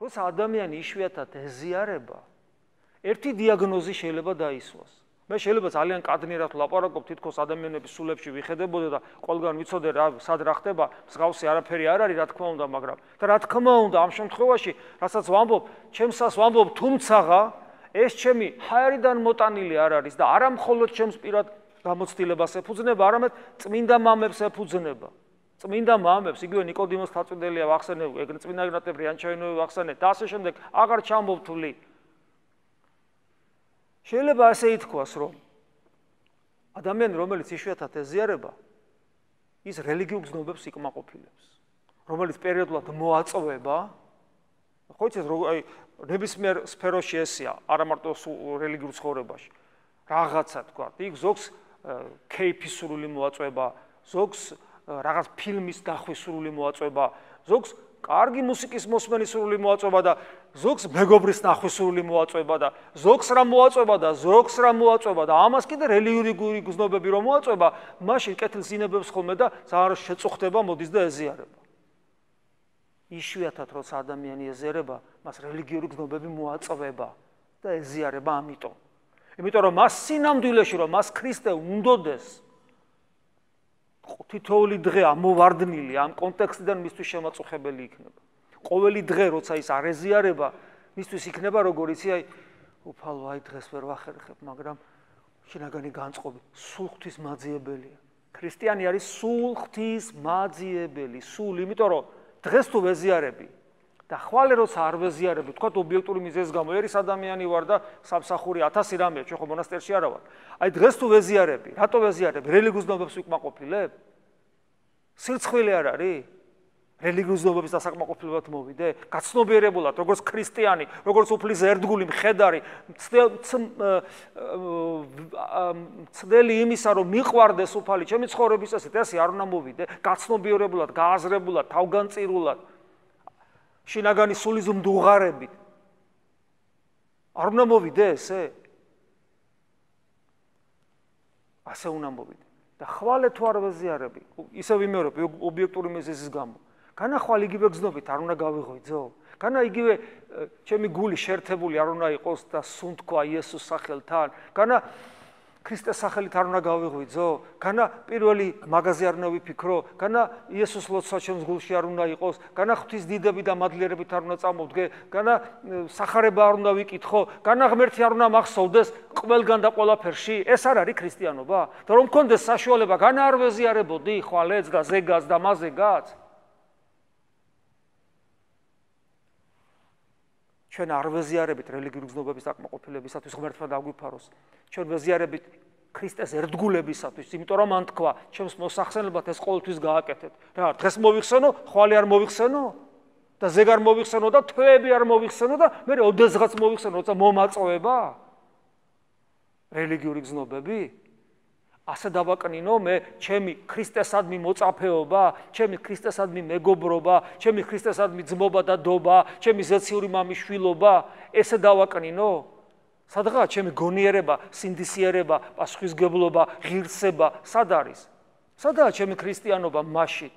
როცა ადამიანი იშვიათად ეზიარება, ერთი დიაგნოზი შეიძლება დაისვას. მე შეიძლება ძალიან კადნიერად ვლაპარაკობ, თითქოს ადამიანების სულებში ვიხედებოდე და ყველგან ვიცოდე რა სად რა ხდება, მსგავსი არაფერი არ არის, რა თქმა უნდა, მაგრამ და რა თქმა უნდა, ამ შემთხვევაში, რასაც ვამბობ, ჩემსას ვამბობ, თუმცაღა ეს ჩემი ჰაერიდან მოტანილი არ არის და არა მხოლოდ ჩემს პირად გამოცდილებას ეფუძნება, არამედ წმინდა მამებს ეფუძნება. წმინდა მამებს, იგივე ნიკოდიმოს თაწვიდელია ვახსენე, ეგრე წმინდა ეგნატე ბრიანჩაინოვი ვახსენე და ასე შემდეგ, აღარ ჩამოვთვლი. შეიძლება ასე ითქვას, რომ ადამიანი, რომელიც იშვიათად ეზიარება, ის რელიგიურ გზნობებს იკმაყოფილებს, რომელიც პერიოდულად მოაწვევა, ხო იცით, აი ნებისმიერ სფეროში ესია, არა მარტო რელიგიურ ცხოვრებაში. რაღაცა თქვა, იქ ზოგს кейფის სრული მოაწვევა, ზოგს რაღაც ფილმის დახვის სრული მოაწვევა, ზოგს კარგი მუსიკის მოსმენის სრული მოაწვევა და ზოგს მეგობრის ნახვის სრული მოაწვევა და ზოგს რა მოაწვევა და ზოგს რა მოაწვევა და ამას კიდე რელიგიური გზნობები რომ მოაწვევა, მაშინ კეთილს ინებებს ხოლმე და ძალიან შეწუხდება, მოდის და ეზიარება. იშვიათად როცა ადამიანი ეზიარება, მას რელიგიური გზნობები მოაწვევა და ეზიარება ამიტომ. იმიტომ რომ მას სინამდვილეში რომ მას ქრისტე უნდოდეს თითოეული დღე ამოვარდნილი ამ კონტექსტიდან მისთვის შემაწუხებელი იქნება. ყოველი დღე როცა ის არ ეზიარება, მისთვის იქნება როგორ იცი, აი უფალო, აი დღეს ვერ ვახერხებ, მაგრამ შინაგანი განწყობი სულ ღვთის მაძიებელია. ქრისტიანი არის სულ ღვთის მაძიებელი, სულ, იმიტომ რომ დღეს თუ ვეზიარები და ხვალე როცა არ ვეზიარები, თქვა ობიექტური მიზეზის გამო ერის ადამიანი ვარ და სამსახური 1000 რამეა, ჩვენ ხო მონასტერში არა ვარ. აი დღეს თუ ვეზიარები, რატო ვეზიარები? რელიგიურ გზნობებს ვიკმაყოფილებ? სირცხვილი არ არის? რელიგიურ გზნობების დასაკმაყოფილებლად მოვიდე? გაცნობიერებულად, როგორც ქრისტიანი, როგორც უფლის ერთგული მხედარი, ცდელი იმისა, რომ მიყვარდეს უფალი ჩემი ცხოვრების წესით, ესე არ უნდა მოვიდე? გაცნობიერებულად, გააზრებულად, თავგანწირულად, შინაგანი სულის მდუღარებით. არ უნდა მოვიდე ესე? ასე უნდა მოვიდე. და ხვალე თუ არ ვეზიარები, ისე ვიმეორებ ობიექტური მიზეზის გამო. განა ხვალ იგივე გზნობით არ უნდა გავიღვიძო? განა იგივე ჩემი გული შეერთებული არ უნდა იყოს და სუნთქვა იესოს სახელთან? განა ქრისტეს სახელით არ უნდა გავიღვიძო? განა პირველი მაგაზე არ უნდა ვიფიქრო? განა იესოს ლოცვა ჩემს გულში არ უნდა იყოს? განა ღვთის დიდები და მადლიერებით არ უნდა წამოვდგე? განა სახარება არ უნდა ვიკითხო? განა ღმერთი არ უნდა მახსოვდეს ყველგან და ყველაფერში? ეს არ არის ქრისტიანობა? და რომ მქონდეს საშუალება, განა არ ვეზიარებოდი ხვალეც და ზეგას და მაზეგაც? ჩვენ არ ვეზიარებით რელიგიური გზნობების დაკმაყოფილებისათვის ღმერთმა დაგვიფაროს. ჩვენ ვეზიარებით ქრისტეს ერთგულებისათვის, იმიტომ რომ მან თქვა, ჩემს მოსახსენებლად ეს ყოველთვის გააკეთეთ. რა, დღეს მოვიხსენო, ხვალე არ მოვიხსენო და ზეგ არ მოვიხსენო და თვეები არ მოვიხსენო და მე ოდესღაც მოვიხსენო, როცა მომაწვევა რელიგიური გზნობები. ასე დავაკნინო მე ჩემი ქრისტესადმი მოწაფეობა, ჩემი ქრისტესადმი მეგობრობა, ჩემი ქრისტესადმი ძმობა და დობა, ჩემი ზეციური მამის შვილობა, ესე დავაკნინო? სადღაა ჩემი გონიერება, სინდისიერება, პასუხისგებლობა, ღირსება, სად არის? სადაა ჩემი ქრისტიანობა? მაშინ